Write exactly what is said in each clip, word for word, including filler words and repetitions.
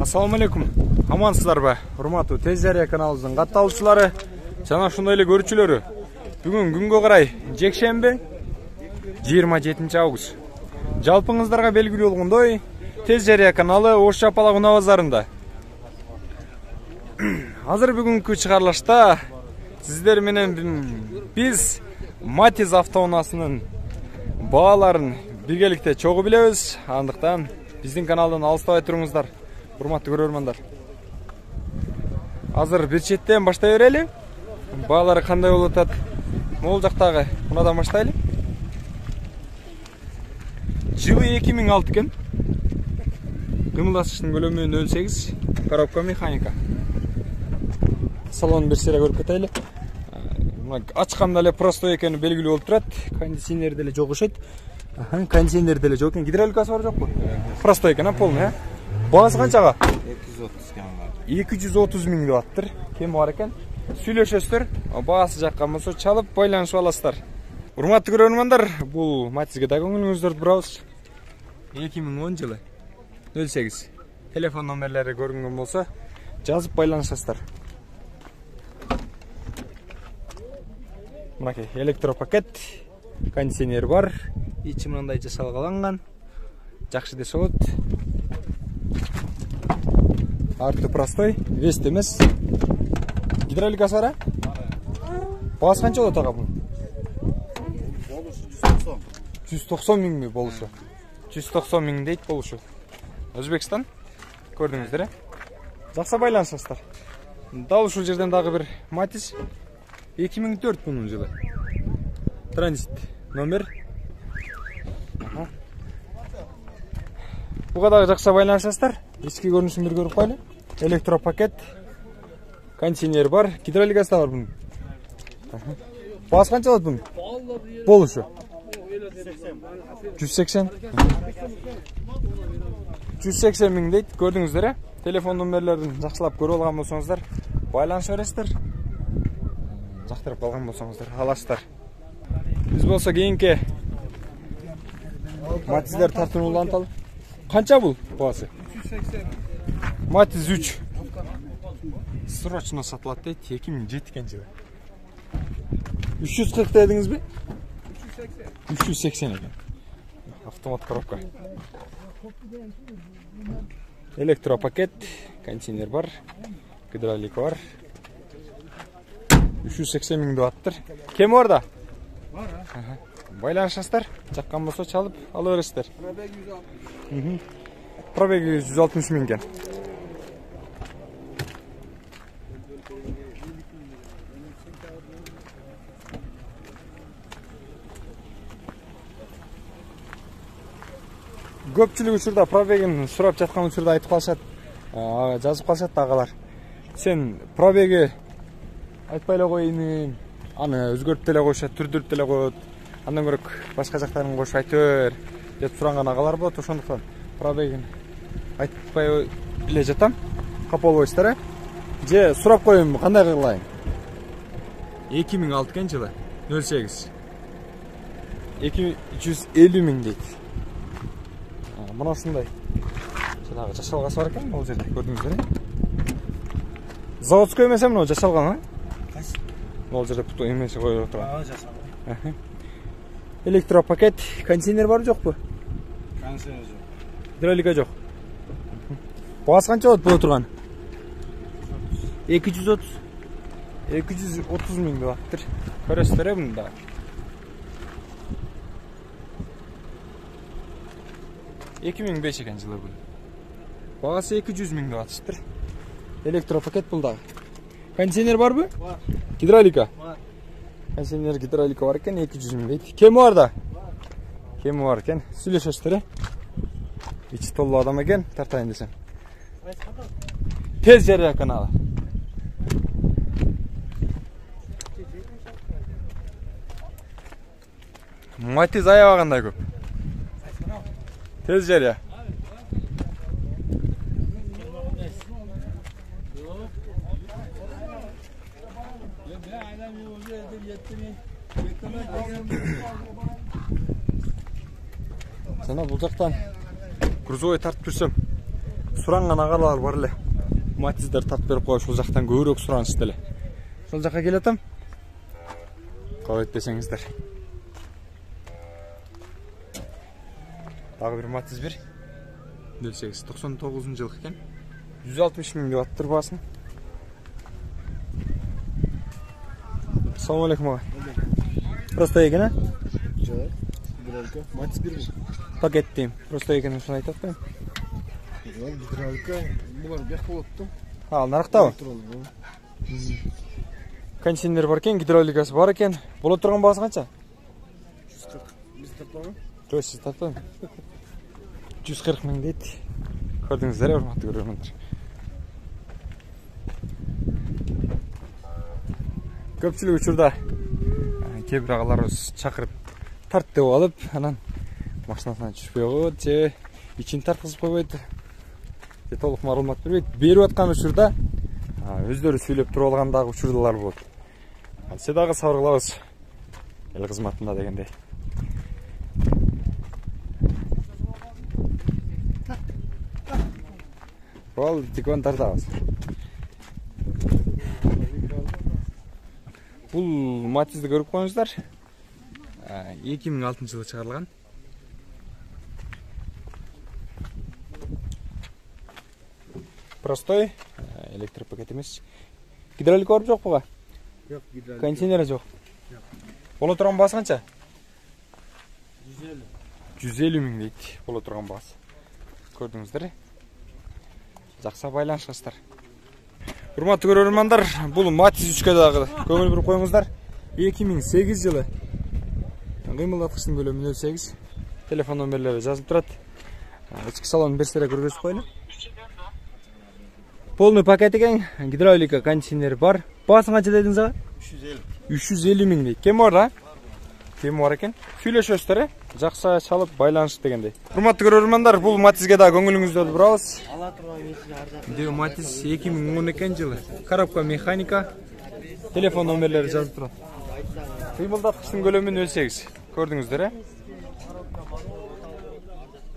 Assalamu alaikum. Амансыздарбы? Урматтуу Тез Жарыя каналыбыздын катталуучулары жана ошондой эле көрүүчүлөрү. Бүгүн күнгө карай жекшемби жыйырма жетинчи август. Жалпыңыздарга белгилүү болгондой, Тез Жарыя каналы Ош Жапалак унаа базарында. Азыр бүгүнкү чыгарылышта сиздер менен биз Матиз автоунаасынын бааларын биргеликте чогуу билебиз. Андыктан биздин каналдан алыстабай туруңуздар, урматтуу көрөрмандар. Азыр бир четтен баштай берели. Баалары кандай болуп атат? Могул жактагы мунадан баштайлы. Жылы эки миң алты экен. Кымылдашыштын көлөмү нөл сегиз, коробка механика. Салонун бир сыйра көрүп кетели. Ачканда эле простой экени белгилүү болуп турат. Кондиционер деле жок окшойт. Аха, кондиционер деле жок экен. Гидравликасы бар жокпу? Простой экен, а полный, а? Баасы канчага? эки жүз отуз кем. эки жүз отуз миң деп аттыр. Кем бар экен? Сүйлөшөсүздөр. Баасы жаккан болсо чалып байланышып аласыздар. Урматтуу көрөрмандар, бул Матизге да көңүлүңүздөрдү бурабыз. эки миң он жылы нөл сегиз. Телефон номерлери көрүнгөн болсо жазып байланышасыздар. Мынакей электропакет, кондиционер бар, ичи мындай жасалгаланган. Жакшы десе болот. Арты простой, вест эмес. Гидравликасы бар, а? Баасы канча болот ага бул? Болушу жүз токсон. жүз токсон миңби болушу? жүз токсон миң дейт болушу. Өзбекстан. Көрдүңүздөр, э? Жакшы байланышасыздар. Дал ушул жерден дагы бир Матиз. эки миң төрт бунун жылы. Транзит номер. Ага. Буга дагы жакшы байланышасыздар. Ички көрүнүшүн бир көрүп кайлы. Электропакет. Кондиционер бар, гидравликасы да бар бунун. Баасы канча болот бунун? Болушу жүз сексен. жүз сексен миң дейт, көрдүңүздөр, э? Телефон номерлерин жакшылап көрүп алган болсоңуздар, байланыша бересиздер. Жактырып калган болсоңуздар, аласыздар. Биз болсо кийинки Матиздер тартынууланталы. Канча бул баасы? үч жүз сексен. Матиз үч. Срочно сатылат дейт, эки миң жети жылы. үч жүз кырк дедиңизби? үч жүз сексен экен. Автомат коробка. Электропакет, кондиционер бар, гидравлика бар. үч жүз сексен миң деп аттыр. Кем бар да? Бар, а? Байланышасыздар, жаккан болсо чалып ала бересиздер. Пробеги жүз алтымыш. Пробеги жүз алтымыш миң экен. Көпчүлүк учурда пробегин сурап жаткан учурда айтып калышат, жазып калышат агалар. Сен пробеги айтпай эле коеюн, аны өзгөртүп деле коюшат, түрдүрүп деле коет. Андан көрөк башка жактарын кошуп айтып бер деп суранган агалар болот. Ошондуктан пробегин айтпай эле жатам. Капа болбойсуздар, э? Же сурап коеюнбу, кандай кылайын? эки миң алты экен жылы, нөл сегиз. эки жүз элүү миң дейт. Мына ушундай. Жанагы жашалгасы бар экен, бул жерде көрдүңүздөр, э? Заводской эмес эмне жашалган, а? Кайсы? Бул жерде путу эмеси коюп турган. Ага, жашалган. Электропакет, кондиционер бар жокпу? Кондиционер жок. Гидравлика жок. Баасы канча болот бул турган? эки жүз отуз. эки жүз отуз миң деп аттыр. Көрөсүздөр, э, муну да. эки миң беш экен жылы бул. Баасы эки жүз миң деп атыштыр. Электропакет бул дагы. Кондиционер барбы? Бар. Гидравлика? Бар. Кондиционер, гидравлика бар экен, эки жүз миң дейт. Кеми бар да? Кеми бар экен. Сүйлөшөсүздөр, э? Ичи толуу адам экен, тартайын десем. Тез Жарыя каналы. Матиз аябагандай көп. Тез Жарыя. Жана бул жактан грузовой тартып жүрсөм, суранган агалар бар эле. Матиздер тап берип коюш, ушул жактан көбүрөөк суранышты эле. Ошол жакка келатам. Кабыл этпесеңиздер. Дагы бир Матиз бир. нөл сегиз токсон тогузунчу жыл экен. жүз алтымыш миң деп аттыр баасын. Assalamu alaikum ага. Просто экен, а? Жок. Гидралика. Матиз бир. Пакет дейм. Просто экен ушуну айтып атпаймынбы? Гидралика. Булар бияк болот да. А, нарыктабы? Кондиционер бар экен, гидравликасы бар экен. Боло турган баасы канча? жүз кырк. Биз тартпайбы? Жок, сиз тартпайбы? жүз кырк миң дейт. Көрдүңүздөр, урматтуу көрөрмөндөр. Көпчүлүк учурда кээ бир агаларыбыз чакырып тарт деп алып, анан машинасынан түшпөй коет же ичин тарткызып койбойт. Же толук маалымат бербейт. Берип аткан учурда өздөрү сүйлөп туруп алган дагы учурлар болот. Се дагы сабыр кылабыз эл кызматында дегендей. Бол тикон тартабыз. Бул Матизди көрүп коюңуздар. эки миң алтынчы жылы чыгарылган. Простой, электропакет эмес. Гидравлика бар жок буга? Жок, гидралика. Кондиционер жок. Боло турган баасы канча? жүз элүү. жүз элүү миң дейт. Боло турган баасы. Көрдүңүздөр. Жакса байланышасыздар. Урматтуу көрөрмандар, бул Матиз үчкө дагы көңүл буруп коюңуздар. эки миң сегиз жылы. Кыймылдаткычтын көлөмү нөл сегиз. Телефон номерлери жазылып турат. Ички салонун берсере көргөзүп коелу. Полный пакет экен, гидравлика, кондиционер бар. Баасы канча дедиңиз ага? үч жүз элүү. үч жүз элүү миң дейт. Кем бар да? Кем бар экен? Сүйлөшөсүздөр, э? Жакса чалып байланыш дегендей. Урматтуу көрөрмандар, бул Матизге да көңүлүңүздү бурабыз. Ала турган эси ар жакта. Дөө Матиз эки миң он экинчи жылы. Коробка механика. Телефон номерлери жазылып турат. Кыймылдаткычтын көлөмү нөл сегиз. Көрдүңүздөр, э?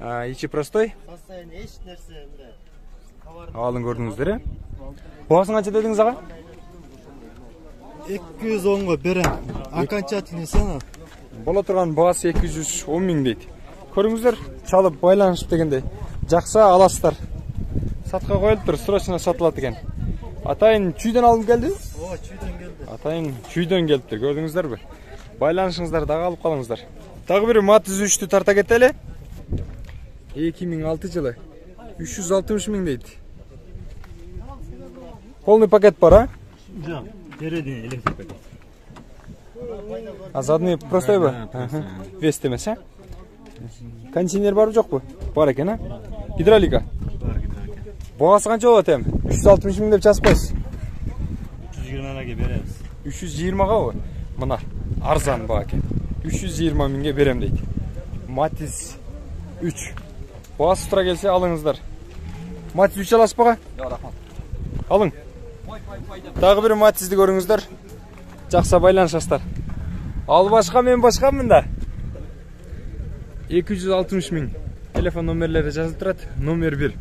А, ичи простой. Состояние эч нерсе мындай. Алын көрдүңүздөр, э? Баасын канча дедиңиз ага? эки жүз онго берем. Окончательный цена. Боло турган баасы эки жүз он миң дейт. Көрүңүздөр, чалып байланышып дегендей. Жакса аласыздар. Сатка коюлуптур, срочно сатылат экен. Атайын чүйдөн алып келди? Ооба, чүйдөн келди. Атайын чүйдөн келиптир, көрдүңүздөрбү? Байланышыңыздар дагы алып калыңыздар. Дагы бир Матиз үчтү тарта кетели. эки миң алтынчы жылы. үч жүз алтымыш миң дейт. Полный пакет бар, а? Жок, передний электропакет. А задний простойбу? Вест эмес, а? Кондиционер барбы жокпу? Бар экен, а? Гидравлика. Бар гидравлика. Баасы канча болот эми? үч жүз алтымыш миң деп жазып койсуз. үч жүз жыйырмага беребиз. үч жүз жыйырмагабы? Мына арзан баа экен. үч жүз жыйырма миңге берем дейт. Матиз үч. Баасы тура келсе алыңыздар. Матиз үч аласызбы ага? Жок, рахмат. Алың. Дагы бир Матизди көрүңүздөр. Жакса байланышасыздар. Ал башка, мен башкамын да. эки жүз алтымыш миң. Телефон номерлери жазылып турат. Номер бир.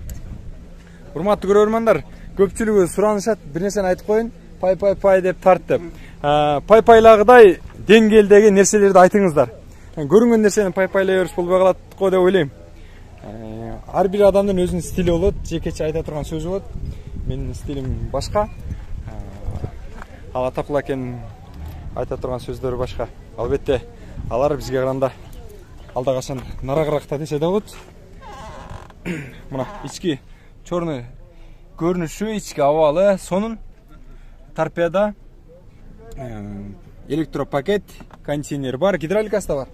Урматтуу көрөрмандар, көпчүлүгү суранышат, бир нерсени айтып коюн. Пай пай пай деп тарт деп. Пай пайлагыдай деңгээлдеги нерселерди айтыңыздар. Көрүнгөн нерсени пай пайлай бериш болбой калат го деп ойлойм. Ар бир адамдын өзүнүн стили болот, жекече айта турган сөзү болот. Менин стилим башка. Ал Атакул акен айта турган сөздөрү башка. Албетте, алар бизге караганда алда качан нарагыракта десе да болот. Мына ички чорный көрүнүшү, ички абалы, сонун торпеда, электропакет, кондиционер бар, гидравликасы да бар.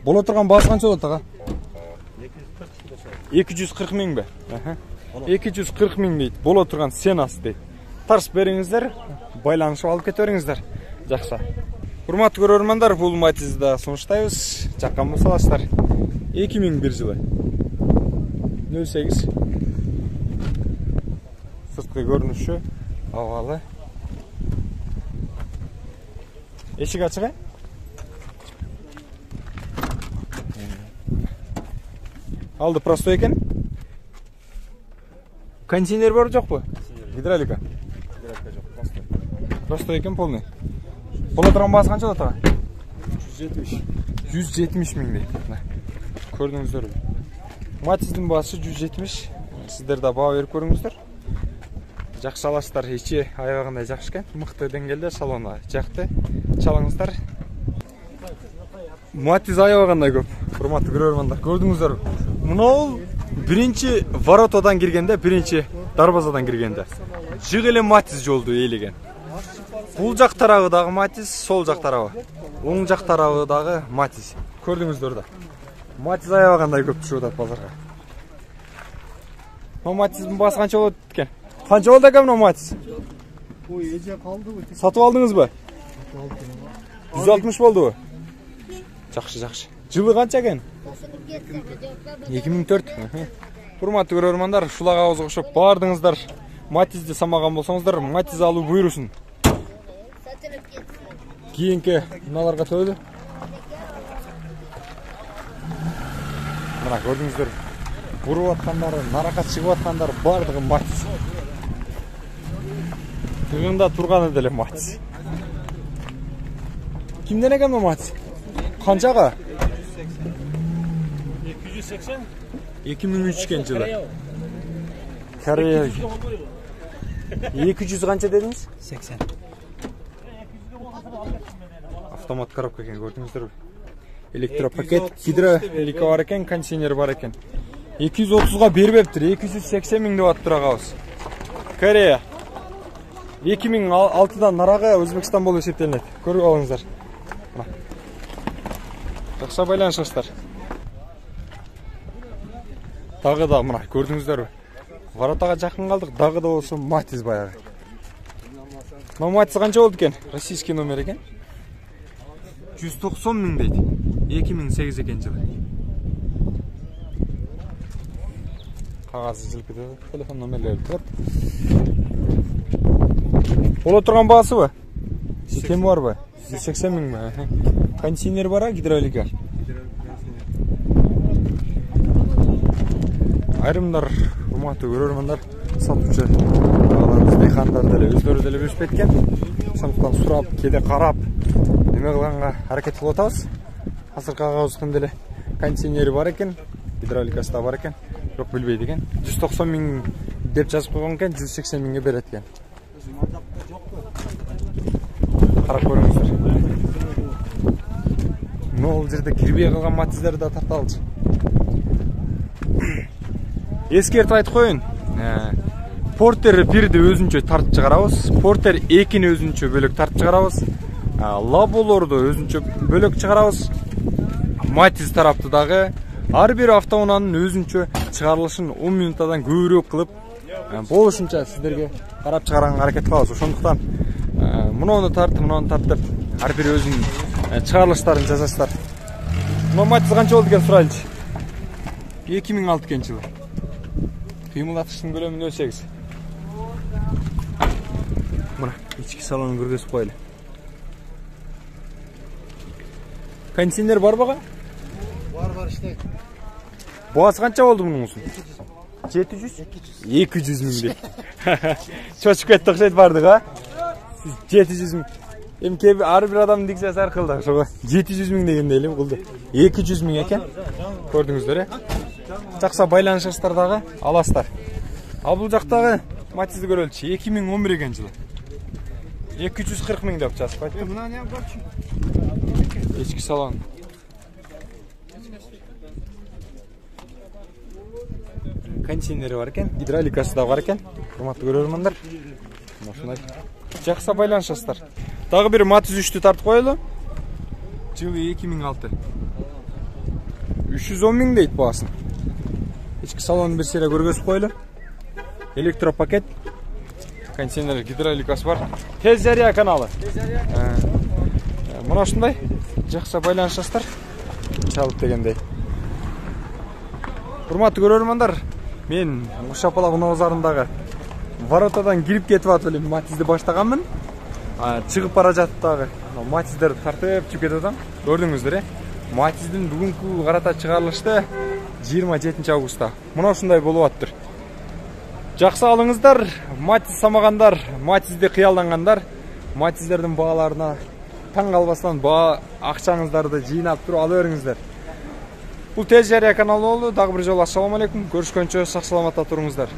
Боло турган баасы канча болот ага? эки жүз кырк миңби? эки жүз кырк миң дейт. Боло турган ценасы дейт. Тарс бериңиздер, байланышып алып кете бериңиздер. Жакса. Урматтуу көрөрмандар, бул Матизди да сунуштайбыз. Жаккан болсо аласыздар. эки миң бир жылы. нөл сегиз. Сырткы көрүнүшү, абалы. Эшик ачык, э? Алды простой экен. Кондиционер бар жокпу? Гидравлика. Гидравлика жок, просто. Просто экен полный. Бола турган баасы канча болот ага? жүз жетимиш. жүз жетимиш миң дейт. Көрдүңүздөрбү? Матиздин баасы жүз жетимиш. Сиздер да баа берип көрүңүздөр. Жакшы аласыздар, ичи аябагандай жакшы экен. Мыкты деңгээлде салону жакты. Чалыңыздар. Матиз аябагандай көп. Урматтуу көрөрмандар, көрдүңүздөр. Мынау биринчи воротадан киргенде, биринчи дарбазадан киргенде. Жык эле Матиз жолду ээлеген. Бул жак тарабы дагы Матиз, сол жак тарабы. Оң жак тарабы дагы Матиз. Көрдүңүздөр да. Матиз аябагандай көп түшүп атат базарга. Мына Матиздин баасы канча болот экен? Канча болду экен мына Матиз? Ой, эже калдыбы? Сатып алдыңызбы? жүз алтымыш болдубу? Жакшы, жакшы. Жылы канча экен? эки миң төрт. Урматтуу көрөрмандар, ушул агабызга окшоп баардыгыңыздар Матизди самаган болсоңуздар, Матиз алуу буйрусун. Кийинки мыналарга тойлу. Мына көрдүңүздөр. Буруп аткандар, наракат чыгып аткандар баардыгы Матиз. Тыгында турганы деле Матиз. Кимден экен бу Матиз? Канчага? эки жүз сексен. эки миң үч жылы. Корея. эки жүз канча дедиңиз? сексен. Автомат коробка экен, көрдүңүздөрбү? Электропакет, гидравлика бар экен, кондиционер бар экен. эки жүз отузга бербептир, эки жүз сексен миң деп аттыр агабыз. Корея. эки миң алтыдан нарагы Өзбекстан болуп эсептелинет. Көрүп алыңыздар. Жакшы байланышыңыздар. Дагы да мына көрдүңүздөрбү? Воротага жакын калдык, дагы да болсо Матиз баягы. Мына Матиз канча болду экен? Российский номер экен. жүз токсон миң дейт. эки миң сегиз экен жылы. Кагазы жылкыды, телефон номерлери бар. Боло турган баасыбы? Кем барбы? жүз сексен миңби? Кондиционер бар, гидравлика. Айрымдар, урматтуу көрөрмандар, сатуучу агаларыбыз, дыйкандар деле өздөрү деле билишип кеткен. Ошондуктан сурап, кээде карап, неме кылганга аракет кылып атабыз. Азыркы агабыздын деле кондиционери бар экен, гидравликасы да бар экен. Бирок билбейт экен. жүз токсон миң деп жазып койгон экен, жүз сексен миңге берет экен. Карап көрүңүздөр. Могул жерде кирбей калган Матиздерди да тарталчы. Эскертип айтып коюн. Портер бирди өзүнчө тартып чыгарабыз. Портер экини өзүнчө бөлөк тартып чыгарабыз. Лаболорду өзүнчө бөлөк чыгарабыз. Матиз тарапты дагы ар бир автоунаанын өзүнчө чыгарылышын он минуттан көбүрөөк кылып, болушунча сиздерге карап чыгарганга аракет кылабыз. Ошондуктан муну тарт, муну тарт деп ар бир өзүнүн чыгарылыштарын жасаштар. Мына Матиз канча болду экен сурайлычы? эки миң алты экен жылы. Кыймылдатыштын көлөмүн өлчөңүз. Мына ички салонун көргөзүп коелу. Кондиционер бар бага? Бар, бар иштейт. Баасы канча болду мунун? жети жүз? эки жүз миң дейт. Чочуп кетти окшойт бардык, а? жети жүз миң. Эми кээ ар бир адамдын дикциясы ар кыл да, ошого жети жүз миң дегенде эле кылды. эки жүз миң экен. Көрдүңүздөр, э? Жакса байланышыңыздар дагы аласыздар. А бул жактагы Матизди көрөлчү. эки миң он бир экен жылы. эки жүз кырк миң деп жазып койтум. Мына не барчы? Ички салон. Кондиционери бар экен, гидравликасы да бар экен. Урматтуу көрөрмандар. Ушундай. Жакса байланышасыздар. Дагы бир Матиз үчтү тартып коелу. Жылы эки миң алты. үч жүз он миң дейт баасын. Ички салонун бир сере көргөзүп коелу. Электропакет. Кондиционер, гидравликасы бар. Тез жарыя каналы. Тез жарыя. Мына ушундай. Жакса байланышасыздар. Чалып дегендей. Урматтуу көрөрмандар, мен Ушапала Уноо базарындагы воротадан кирип кетип атып элем Матизди баштаганмын. Чыгып бара жатып дагы Матиздерди тартып чыгып кетип атам. Көрдүңүздөр, э? Матиздин бүгүнкү карата чыгарылышты жыйырма жетинчи августта. Мына ушундай болуп аттыр. Жакшы алыңыздар, Матиз самагандар, Матизди кыялдангандар, Матиздердин бааларына таң калбастан баа акчаңыздарды жыйнап туруп ала бериңиздер. Бул Тез Жарыя каналы болду. Дагы бир жолу ассаламу алейкум. Көрүшкөнчө сак саламатта туруңуздар.